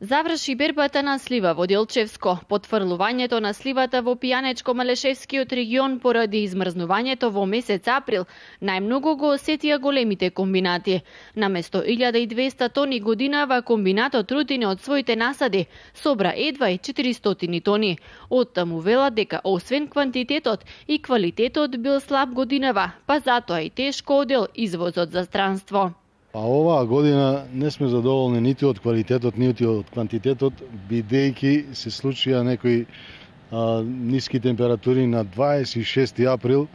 Заврши бербата на слива во Делчевско. Потфрлувањето на сливата во Пијанечко-Малешевскиот регион поради измрзнувањето во месец април најмногу го осетија големите комбинати. Наместо 1200 тони годинава, комбинатот Рудине од своите насади собра едва и 400 тони. Оттаму велат дека освен квантитетот и квалитетот бил слаб годинава, па затоа и тешко одел извозот за странство. Па оваа година не сме задоволни ниту од квалитетот, ниту од квантитетот, бидејќи се случија некои ниски температури на 26 април,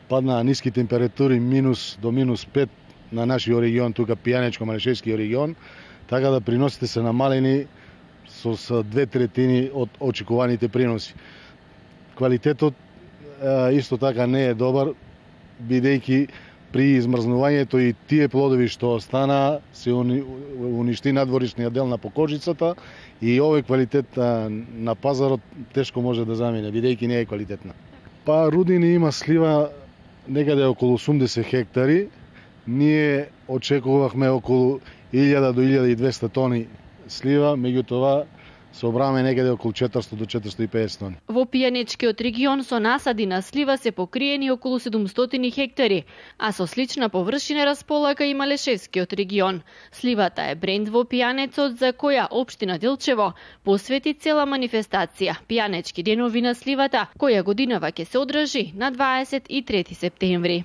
паднаа ниски температури до минус 5 на нашиот регион, тука Пијанечко-Малешевскиот регион, така да приносите се намалени со 2/3 од очекуваните приноси. Квалитетот исто така не е добар, бидејќи при измрзнувањето и тие плодови што останаа се уништи надворишниот дел на покожицата и овој квалитет на пазарот тешко може да замине, бидејќи не е квалитетна. Па Рудине има слива некаде околу 80 хектари. Ние очекувавме околу 1000 до 1200 тони слива, меѓутоа собраме некаде околу 400 до 450 тони. Во Пијанечкиот регион со насади на слива се покриени околу 700 хектари, а со слична површина располага и Малешевскиот регион. Сливата е бренд во Пијанецот, за која општина Делчево посвети цела манифестација Пијанечки денови на сливата, која годинава ќе се одржи на 23 септември.